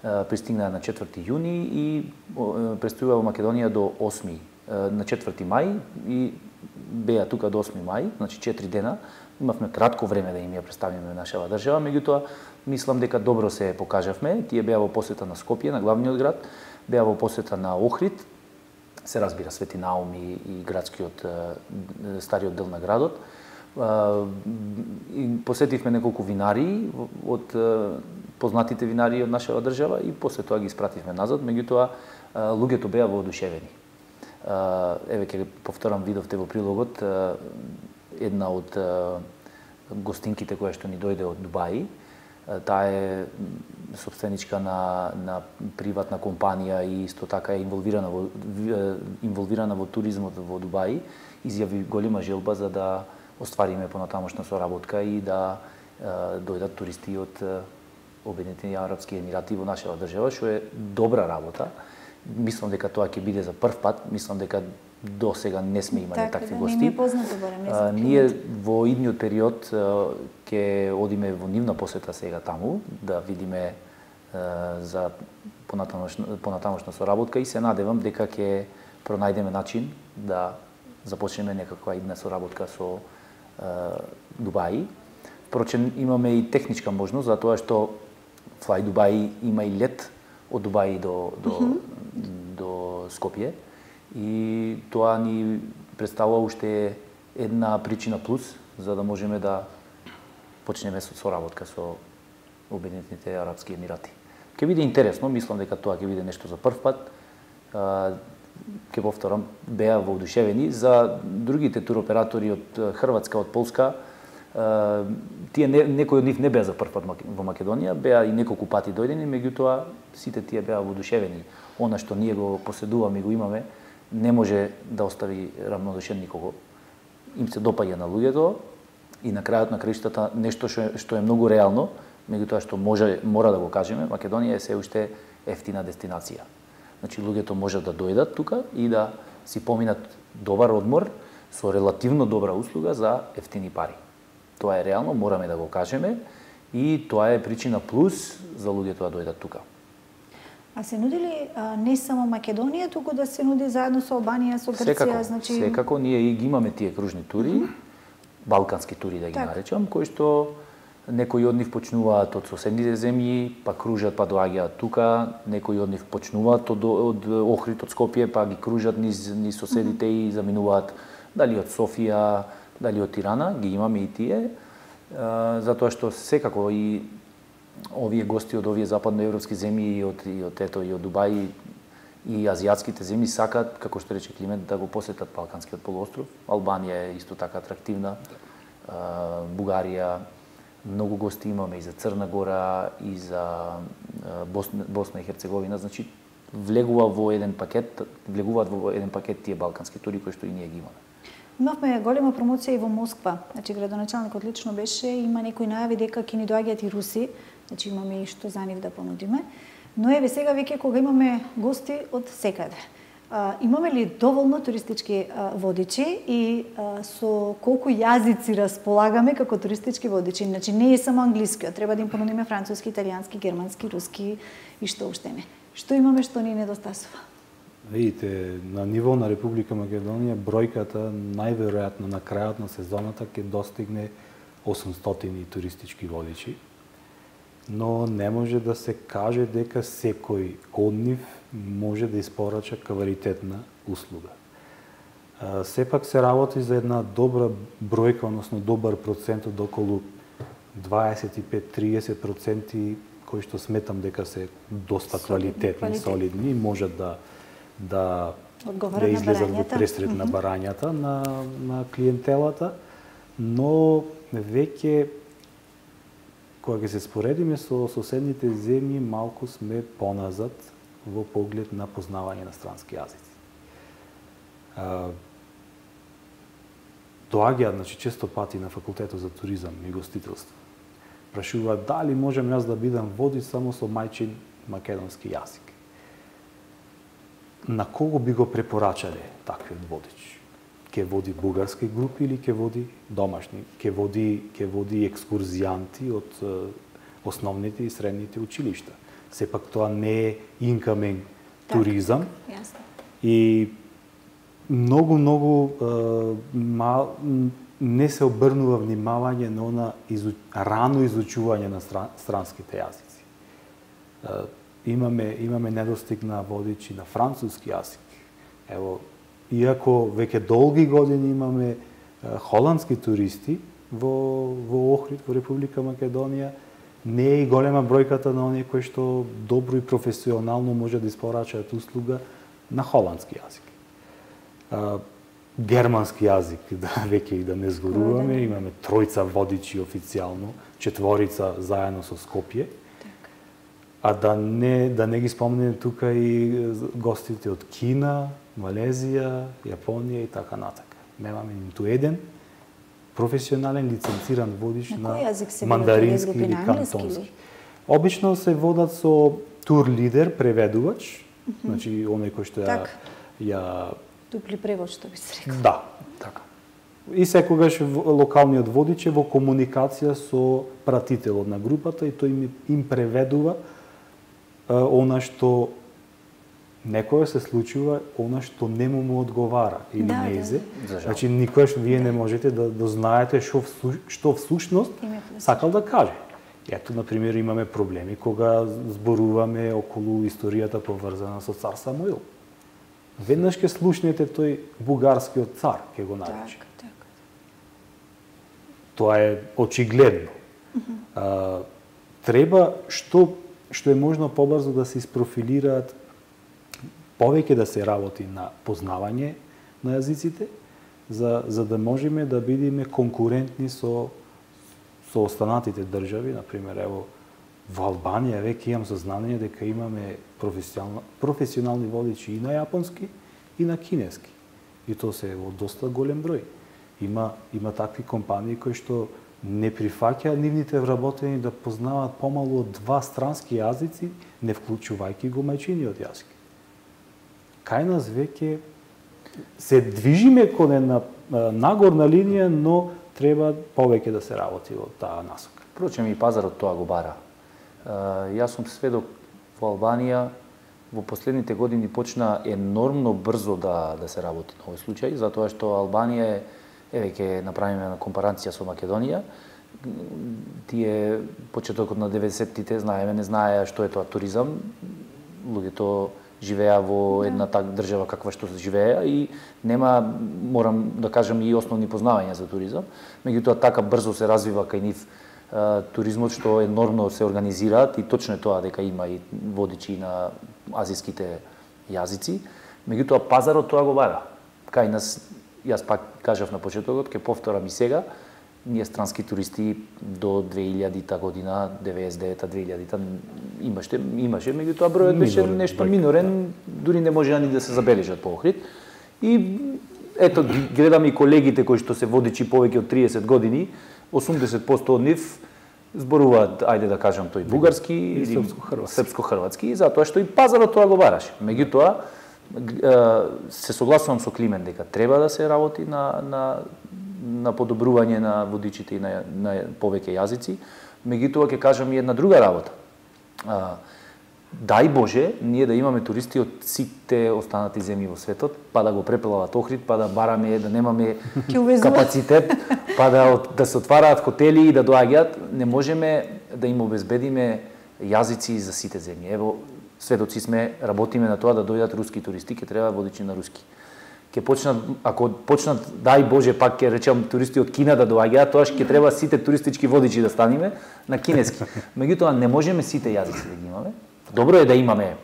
Пристигна на четврти јуни и престојува во Македонија до осми, на четврти мај и беа тука до осми мај, значи четири дена. Имавме кратко време да им ја представиме нашава држава, меѓутоа мислам дека добро се покажавме. Тие беа во посета на Скопје, на главниот град, беа во посета на Охрид, се разбира Свети Наум и, и градскиот стариот дел на градот. И посетивме неколку винари од познатите винари од нашава држава и после тоа ги испративме назад, меѓутоа луѓето беа воодушевени. Еве ќе повторам, видовте во прилогот една од гостинките која што ни дојде од Дубај. Таа е собственичка на, на приватна компанија и исто така е инволвирана во, инволвирана во туризмот во Дубај. Изјави голема желба за да оствариме понатамошна соработка и да е, дојдат туристи од Обединетите арапски емирати во нашава држава, што е добра работа. Мислам дека тоа ќе биде за прв пат, мислам дека до сега не сме имали
така,
такви
да,
гости.
Не ми е познато, барем, не
а, ние во идниот период ќе одиме во нивна посета сега таму, да видиме а, за понатамошна, понатамошна соработка и се надевам дека ќе пронајдеме начин да започнеме некаква идна соработка со а, Дубаи. Впрочем, имаме и техничка можност, затоа што Fly Dubai има и лет од Дубаи до, до, mm -hmm. до Скопје. И тоа ни представува уште една причина плюс за да можеме да почнеме со соработка со Обединетите арапски емирати. Ќе биде интересно, мислам дека тоа ќе биде нешто за прв пат. Ќе повторам, беа воодушевени. За другите туроператори од Хрватска, од Полска, тие не, некои од нив не беа за прв пат во Македонија, беа и неколку пати дојдени, меѓутоа сите тие беа воодушевени. Она што ние го поседуваме и го имаме, не може да остави равнодушен никого. Им се допаѓа на луѓето и на крајот на краиштата нешто што е, што е многу реално, меѓутоа што може мора да го кажеме, Македонија е се уште ефтина дестинација. Значи луѓето можат да дојдат тука и да си поминат добар одмор со релативно добра услуга за ефтини пари. Тоа е реално, мораме да го кажеме и тоа е причина плюс за луѓето да дојдат тука.
А се нуди ли а, не само Македонија, туку да се нуди заедно со Албанија, со Грција?
Секако,
значи...
секако ние и ги имаме тие кружни тури, mm -hmm. балкански тури да ги так. наречам, кои што некои од нив почнуваат од соседните земји, па кружат, па доаѓаат тука, некои од нив почнуваат од, од Охрид, од Скопје, па ги кружат низ, низ соседите mm -hmm. и заминуваат дали од Софија, дали од Тирана, ги имаме и тие, а, затоа што секако и овие гости од овие западноевропски земји и од и од ето и од Дубај и азијатските земји сакаат, како што рече Климент, да го посетат Балканскиот полуостров. Албанија е исто така атрактивна, а, Бугарија, многу гости имаме и за Црна Гора и за Босна, Босна и Херцеговина, значи влегува во еден пакет, влегуваат во еден пакет тие балкански тури кои што и ние ги имаме.
Имавме голема промоција и во Москва. Значи градоначалникот лично беше, има некои најави дека ќе ни доаѓаат и руси, значи имаме и што за нив да понудиме. Но еве сега веќе кога имаме гости од секаде. А, имаме ли доволно туристички а, водичи и а, со колку јазици располагаме како туристички водичи? Значи не е само англискиот, треба да им понудиме француски, италијански, германски, руски и што уште не. Што имаме што ни недостасува?
Видите, на ниво на Република Македонија бројката најверојатно на крајот на сезоната ќе достигне осумстотини туристички водичи, но не може да се каже дека секој од нив може да испорача квалитетна услуга. Сепак се работи за една добра бројка, односно добар процент од околу дваесет и пет до триесет проценти кои што сметам дека се доста квалитетни, солидни и можат да да да излезат во пресред на барањата на на клиентелата, но веќе кога ќе се споредиме со соседните земји, малку сме поназад во поглед на познавање на странски јазици. Доаѓаат, значи, често пати на факултетот за туризам и гостителство. Прашуваат дали можам јас да бидам водич само со мајчин македонски јазик. На кого би го препорачале таквиот водич? Ке води бугарски групи или ке води домашни? Ке води ке води екскурзијанти од основните и средните училишта. Сепак тоа не е инкамен туризам.
Јасно.
И многу многу мал, не се обрнува внимавање на она изу, рано изучување на стран, странските јазици. Имаме имаме недостиг на водичи на француски јазик. Ево, иако веќе долги години имаме холандски туристи во во Охрид, во Република Македонија, не е и голема бројката на оние кои што добро и професионално може да испорачаат услуга на холандски јазик. Германски јазик, да веќе и да не зборуваме, имаме тројца водичи официјално, четворица заедно со Скопје. А да не да не ги спомнеме тука и гостите од Кина, Малезија, Јапонија и така натака. Немаме ниту еден професионален лиценциран водич на, на мандарински или кантонски. Обично се водат со тур лидер, преведувач, mm -hmm. значи оној кој што ја
так.
ја
Дупли превод, што би се рекол.
Да, така. И секогаш локалниот водич е во комуникација со пратителот на групата и тој им, им преведува а, она што некоја се случува, она што не му одговара или
да,
неизе.
Да, да.
Значи никогаш вие не можете да, да знаете што што всушност сакал да каже. Ето, например, имаме проблеми кога зборуваме околу историјата поврзана со цар Самуил. Веднаш ќе слушнете тој бугарскиот цар, ќе го нарече.
Так, так.
Тоа е очигледно. Mm -hmm. а, треба што што е можно побрзо да се isprofilираат, повеќе да се работи на познавање на јазиците, за за да можеме да бидеме конкурентни со со останатите држави, например, ево во Албанија веќе имам сознание дека имаме професионални водичи и на јапонски и на кинески. И тоа се во доста голем број. Има има такви компании кои што не прифаќаат нивните вработени да познаваат помалу од два странски јазици, не вклучувајќи го мајчиниот јазик. Кај нас веќе се движиме кон една нагорна линија, но треба повеќе да се работи во таа насока.
Впрочем, и пазарот тоа го бара. Јас сум сведок во Албанија, во последните години почна енормно брзо да да се работи на овој случај, затоа што Албанија е, еве ќе направиме на компарација со Македонија. Тие почетокот на деветдесеттите знаеме, не знаеа што е тоа туризам. Луѓето живеа во една так држава каква што живеа и нема, морам да кажам, и основни познавања за туризам. Меѓутоа така брзо се развива кај нив туризмот што енормно се организираат и точно е тоа дека има и водичи на азиските јазици. Меѓутоа пазарот тоа го бара. Кај нас, јас пак кажав на почетокот, ќе повторам и сега, ние странски туристи до две илјадита година, деветдесет и девета две илјадита имаше, имаше, меѓутоа бројот беше нешто минорен, дури не можеа ни да се забележат по Охрид. И ето гледам и колегите кои што се водичи повеќе од триесет години, осумдесет проценти од нив зборуваат, ајде да кажам, тој бугарски или
српско-хрватски,
српско-хрватски, затоа што и пазарот тоа го бараше. Меѓутоа се согласувам со Климен дека треба да се работи на на на подобрување на водичите и на, на повеќе јазици. Меѓутоа ќе кажам и една друга работа. А, дај Боже, ние да имаме туристи од сите останати земји во светот, па да го препелават Охрид, па да бараме, да немаме капацитет, па да, да се отвараат хотели и да доаѓаат, не можеме да им обезбедиме јазици за сите земји. Ево, сведоци сме, работиме на тоа да дојдат руски туристи, ќе треба водичи на руски. Ќе почнат, ако почнат, дај Боже, пак ќе речам туристи од Кина да доаѓаат, тоа ќе треба сите туристички водичи да станиме на кинески. Меѓутоа не можеме сите јазици да ги имаме. Добро е да имаме.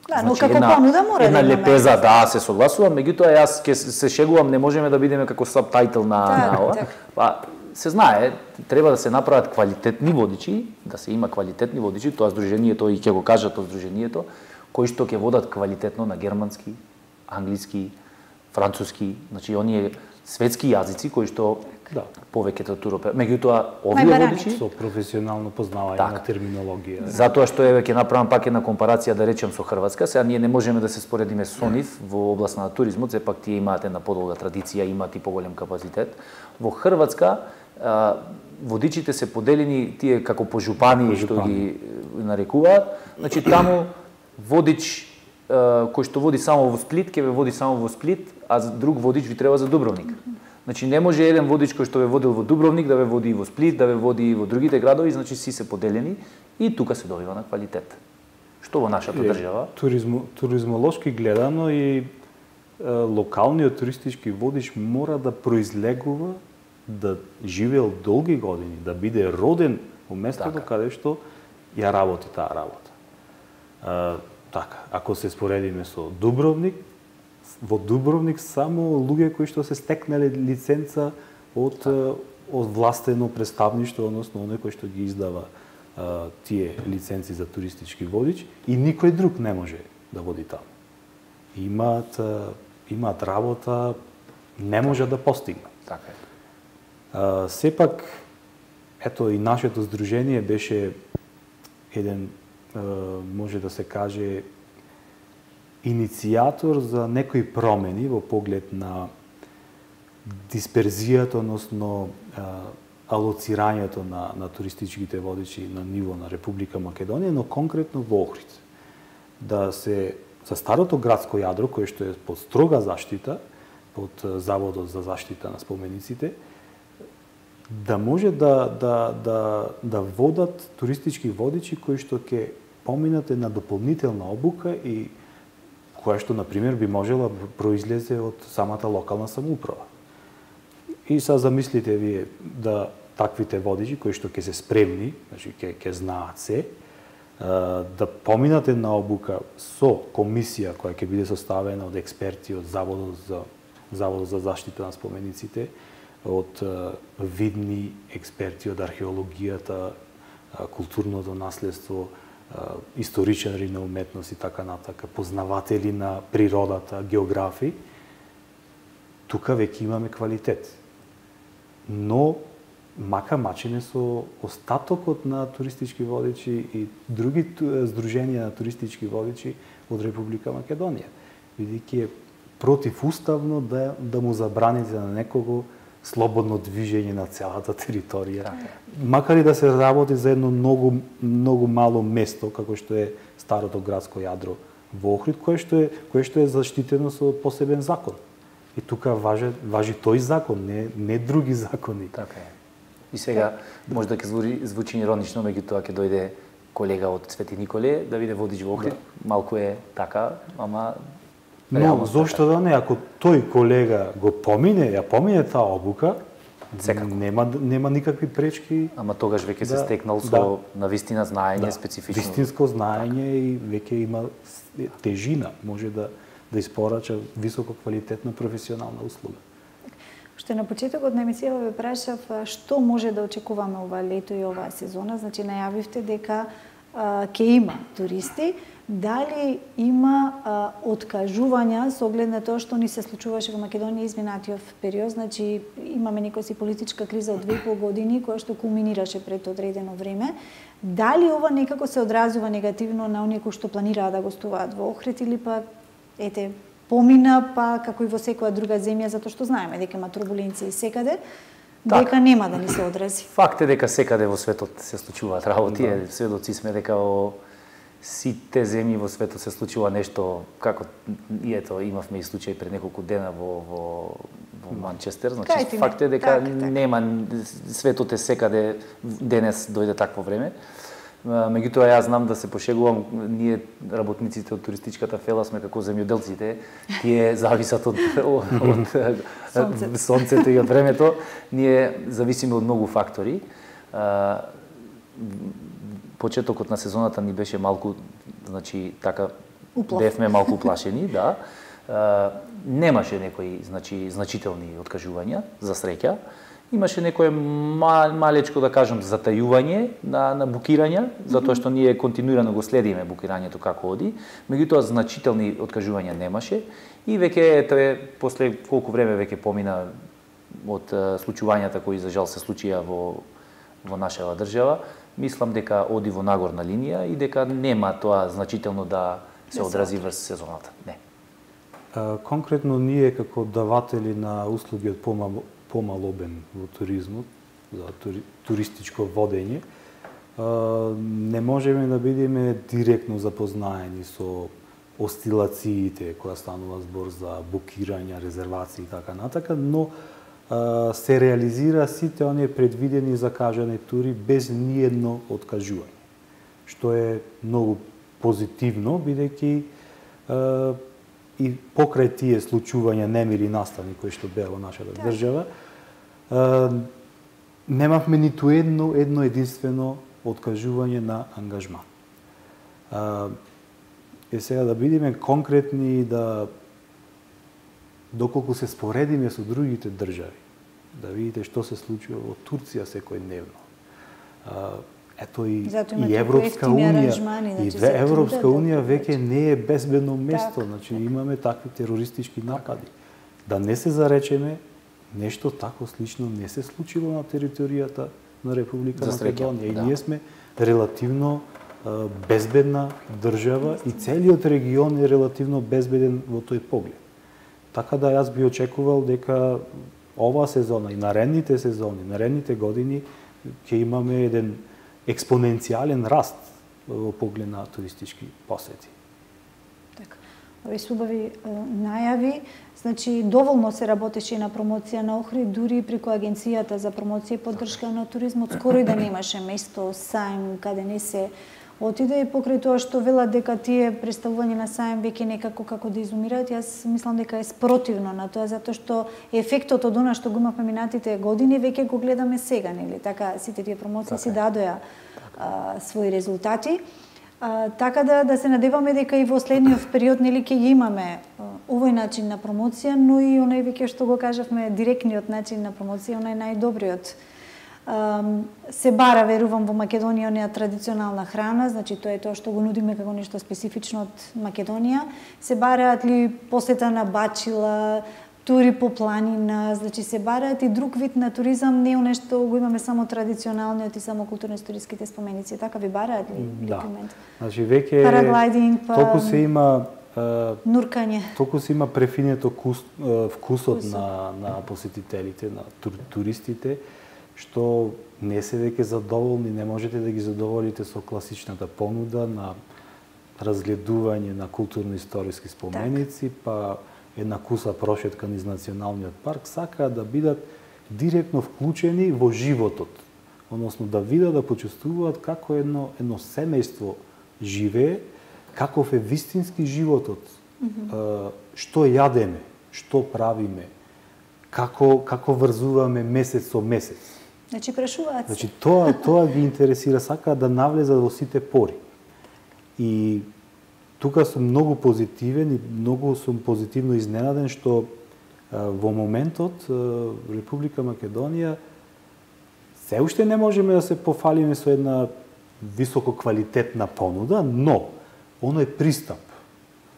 Да, но како понуда мора
една
да имаме.
лепеза, да, се согласувам, меѓутоа јас ќе се шегувам, не можеме да бидеме како сабтајтл на
так,
на ова.
так.
Па се знае, треба да се направат квалитетни водичи, да се има квалитетни водичи, тоа здружението и ќе го кажат тоа здружението, кои што ќе водат квалитетно на германски, англиски, француски, значи оние светски јазици кои што
да,
повеќето туропе. Меѓутоа овие водичи
со професионално познавање
так,
на терминологија.
Затоа што еве ќе направам пак една компарација да речем со Хрватска, сега ние не можеме да се споредиме со нив во област на туризмот, сепак тие имаат една подолга традиција, имаат и поголем капацитет. Во Хрватска а, водичите се поделени тие како по жупани, по што ги нарекуваат. Значи таму водич кој што води само во Сплит, ќе ве води само во Сплит, а друг водич ви треба за Дубровник. Значи не може еден водич кој што ве водил во Дубровник да ве води и во Сплит, да ве води и во другите градови, значи си се поделени и тука се добива на квалитет. Што во нашата држава?
Туризмо, туризмолошки гледано и е, локалниот туристички водич мора да произлегува, да живеел долги години, да биде роден во местото така, каде што ја работи таа работа. Е, така, ако се споредиме со Дубровник, во Дубровник само луѓе кои што се стекнале лиценца од од властено представништво, односно оној кој што ги издава а, тие лиценци за туристички водич и никој друг не може да води таму. Имаат а, имаат работа, не може да постигнат.
Така е.
А, сепак ето и нашето здружение беше еден, може да се каже, иницијатор за некои промени во поглед на дисперзијата, односно алоцирањето на, на туристичките водичи на ниво на Република Македонија, но конкретно во Охрид. Да се, за старото градско јадро, кое што е под строга заштита, под Заводот за заштита на спомениците, да може да, да, да, да водат туристички водичи кои што ќе поминат на дополнителна обука и која што, например, би можела произлезе од самата локална самоуправа. И са замислите вие да таквите водичи кои што ќе се спремни, значи ќе ќе знаат се, да поминате на обука со комисија која ќе биде составена од експерти од Заводот за Заводот за заштита на спомениците, од видни експерти од археологијата, културното наследство, историчари на уметност и така натака, познаватели на природата, географи. Тука веќе имаме квалитет. Но мака мачене со остатокот на туристички водичи и други здруженија на туристички водичи од Република Македонија, бидејќи е противуставно да да му забраните на некого слободно движење на целата територија. Макар и да се работи за едно многу многу мало место како што е старото градско јадро во Охрид, кое што е кое што е заштитено со посебен закон. И тука важи важи тој закон, не не други закони.
Така е. И сега може да ќе звучи, звучи иронично, меѓутоа ќе дојде колега од Свети Николе да биде водич во Охрид. Да. Малку е така, ама
но зошто да не, ако тој колега го помине, ја помине таа обука,
секако
нема нема никакви пречки.
Ама тогаш веќе да, се стекнал со да, навистина знаење, да, специфично.
Вистинско знаење и веќе има тежина, може да да испорача високо квалитетна професионална услуга.
Што на почетокот на емисијава ве прашав што може да очекуваме ова лето и оваа сезона, значи најавивте дека ќе има туристи. Дали има а, откажувања со оглед на тоа што ни се случуваше во Македонија изминатиот период, значи имаме некоја си политичка криза од две и пол години која што кулминираше пред одредено време. Дали ова некако се одразува негативно на оние кои што планираат да гостуваат во Охрид или па ете помина па како и во секоја друга земја, затоа што знаеме дека има турбуленции секаде, так, дека нема да ни се одрази.
Факт е дека секаде во светот се случуваат работи, да. Сведоци сме дека во сите земји во светот се случува нешто, како и ето имавме и случај пред неколку дена во во во Манчестер, значи Кајте факт е дека так, так. нема светот е секаде денес дојде такво време. Меѓутоа јас знам да се пошегувам, ние работниците од туристичката фела сме како земјоделците, тие зависат од од, од сонцето. сонцето и од времето, ние зависиме од многу фактори. Почетокот на сезоната ни беше малку, значи така Уплав. бевме малку уплашени, да. Немаше некои, значи значителни откажувања за среќа. Имаше некое мал, малечко, да кажам, затајување на, на букирања, затоа што ние континуирано го следиме букирањето како оди, меѓутоа значителни откажувања немаше и веќе ето е после колку време веќе помина од случувањата кои за жал се случија во во нашава држава, мислам дека оди во нагорна линија и дека нема тоа значително да се одрази врз сезоната. Не.
Конкретно ние како даватели на услуги од помал, помал обем во туризмот, за тури, туристичко водење, не можеме да бидеме директно запознаени со осцилациите која станува збор за букирања, резервации и така натака, но се реализира сите оние предвидени и закажани тури без ниедно откажување, што е многу позитивно, бидејќи и покрај тие случувања немили настани кои што беа во нашата да. држава, немавме ниту едно едно единствено откажување на ангажман. Е сега да бидеме конкретни и да доколку се споредиме со другите држави, да видите што се случува во Турција секојдневно. Ето и, и Европска унија, и значи, Европска унија веќе не е безбедно место, так, значи так. Имаме такви терористички напади. Да не се заречеме, нешто тако слично не се случило на територијата на Република Македонија. И да. ние сме релативно безбедна држава и целиот регион е релативно безбеден во тој поглед. Така да јас би очекувал дека оваа сезона и наредните сезони, наредните години ќе имаме еден експоненцијален раст во поглед на туристички посети.
Така. Овие убави најави, значи доволно се работеше и на промоција на Охрид, дури преку агенцијата за промоција и поддршка на туризмот, скоро и да немаше место, сајм, каде не се отиде, и покрај тоа што велат дека тие представување на сајм веќе некако како да изумираат, јас мислам дека е спротивно на тоа, затоа што ефектот од она што го имавме минатите години веќе го гледаме сега, нели? Така сите тие промоции си дадоа а, своји резултати. А, така да да се надеваме дека и во следниот период нели ќе ги имаме а, овој начин на промоција, но и онај веќе што го кажавме директниот начин на промоција, онај најдобриот. Се бара, верувам, во Македонија онаа традиционална храна, значи тоа е тоа што го нудиме како нешто специфично од Македонија. Се бараат ли посета на бачила, тури по планина, значи се бараат и друг вид на туризам, не оно што го имаме само традиционалниот и само културно-историските споменици. Така ви бараат ли?
Да.
Документ?
Значи веќе
параглайдинг, па
толку се има
нуркање.
Толку се има префинето вкус, вкусот
Вкусот.
на на посетителите, на тур, туристите, што не се веќе задоволни, не можете да ги задоволите со класичната понуда на разгледување на културно-историски споменици, так. Па една куса прошетка низ националниот парк, сакаат да бидат директно вклучени во животот, односно да видат, да почувствуваат како едно едно семејство живее, каков е вистински животот, mm-hmm. што јадеме, што правиме, како како врзуваме месец со месец.
Значи прашуваат.
Значи тоа тоа ги интересира, сакаат да навлезат во сите пори. И тука сум многу позитивен и многу сум позитивно изненаден што а, во моментот а, Република Македонија се уште не можеме да се пофалиме со една високо квалитетна понуда, но оној пристап,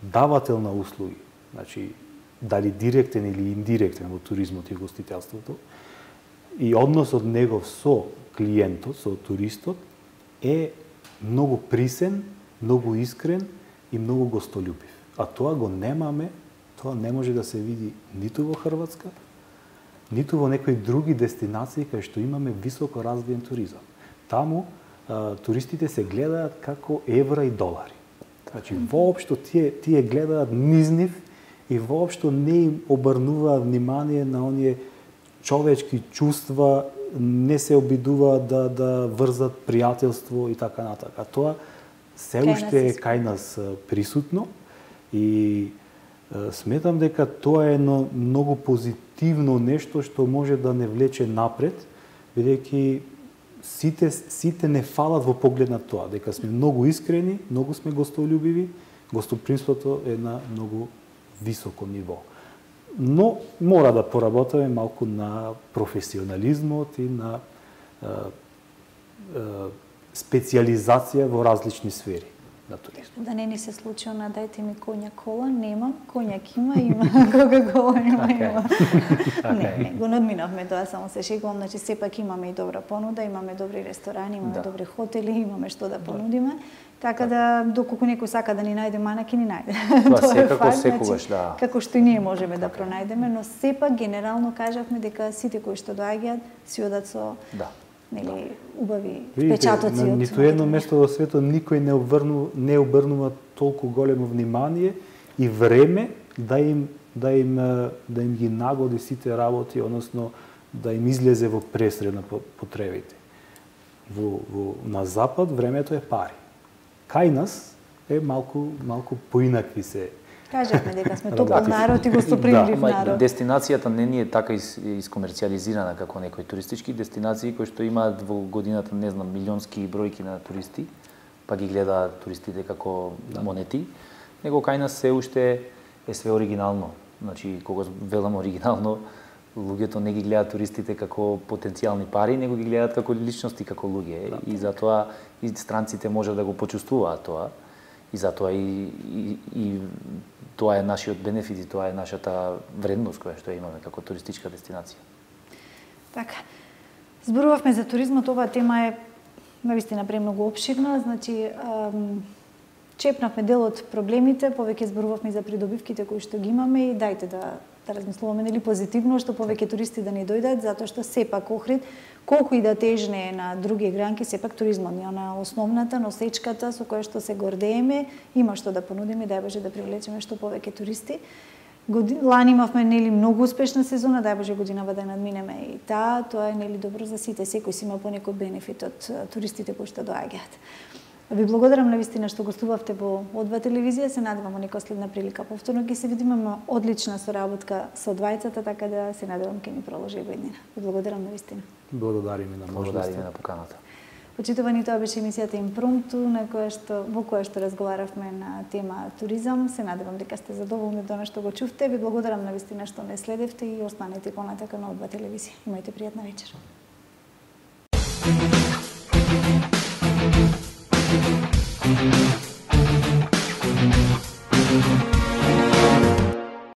давател на услуги, значи дали директен или индиректен во туризмот и гостителството, и односот негов со клиентот, со туристот, е многу присен, многу искрен и многу гостолюбив. А тоа го немаме, тоа не може да се види ниту во Хрватска, ниту во некои други дестинации кај што имаме високо развиен туризам. Таму а, туристите се гледаат како евра и долари. Значи, воопшто тие, тие гледаат низ нив и воопшто не им обрнуваат внимание на оние човечки чувства, не се обидуваат да, да врзат пријателство и така натака. Тоа се уште е кај нас присутно и е, сметам дека тоа е едно многу позитивно нешто што може да не влече напред, бидејќи сите, сите не фалат во поглед на тоа, дека сме многу искрени, многу сме гостолюбиви, гостопримството е на многу високо ниво. Но мора да поработаме малку на професионализмот и на е, е, специализација во различни сфери на туризмот.
Да не ни се случи она, дајте ми коњак кола, немам, коњак има, има, кока-кола има, има. Не, не, го надминавме тоа, само се шегувам, значи сепак имаме и добра понуда, имаме добри ресторани, имаме да. добри хотели, имаме што да понудиме. Така да, доколку некој сака да ни најде манаки, ни најде.
Тоа,
Тоа
секако,
е факт,
секогаш,
значи,
да.
како што и ние можеме да пронајдеме, но сепак генерално кажавме дека сите кои што доаѓаат си одат со
да.
нели убави
Видите,
впечатоци
на
од
ниту едно место во светот никој не обрну, не обрнува толку големо внимание и време да им да им да им ги нагоди сите работи, односно да им излезе во пресред на потребите. Во, во на запад времето е пари. Кај нас е малку малку поинакви се.
Кажавме дека сме топол народ и гостопримлив
да,
народ.
Дестинацијата не ни е така из, искомерцијализирана како некои туристички дестинации кои што имаат во годината, не знам, милионски бројки на туристи, па ги гледаат туристите како да. монети, него кај нас се уште е све оригинално. Значи, кога велам оригинално, луѓето не ги гледаат туристите како потенцијални пари, него ги гледаат како личности, како луѓе. Да. И затоа и странците може да го почувствуваат тоа. И затоа и, и, и тоа е нашиот бенефит и тоа е нашата вредност која што имаме како туристичка дестинација.
Така. Зборувавме за туризмот, оваа тема е навистина премногу опширна, значи чепнавме дел од проблемите, повеќе зборувавме за придобивките кои што ги имаме и дајте да да размислуваме нели позитивно што повеќе туристи да ни дојдат, затоа што сепак Охрид колку и да тежне на други гранки, сепак туризмот ни она основната носечката со која што се гордееме, има што да понудиме, дај Боже да привлечеме што повеќе туристи. Годин, лани имавме нели многу успешна сезона, дај Боже годинава да надминеме и таа, тоа е нели добро за сите, секој си има понекој бенефит од туристите кои што доаѓаат. Ви благодарам навистина што гостувавте во О2 телевизија, се надевам во некоја следна прилика повторно ќе се видиме, има одлична соработка со двајцата, така да се надевам ќе ни продолжи во иднина. Ви благодарам навистина.
Благодариме на можноста.
Благодариме на поканата.
Почитувани, тоа беше емисијата Импромту, на која што во која што разговаравме на тема туризам. Се надевам дека сте задоволни од она што го чувте. Ви благодарам навистина што не следевте и останете понатака на О два телевизија. Имајте пријатна вечер. Thank you.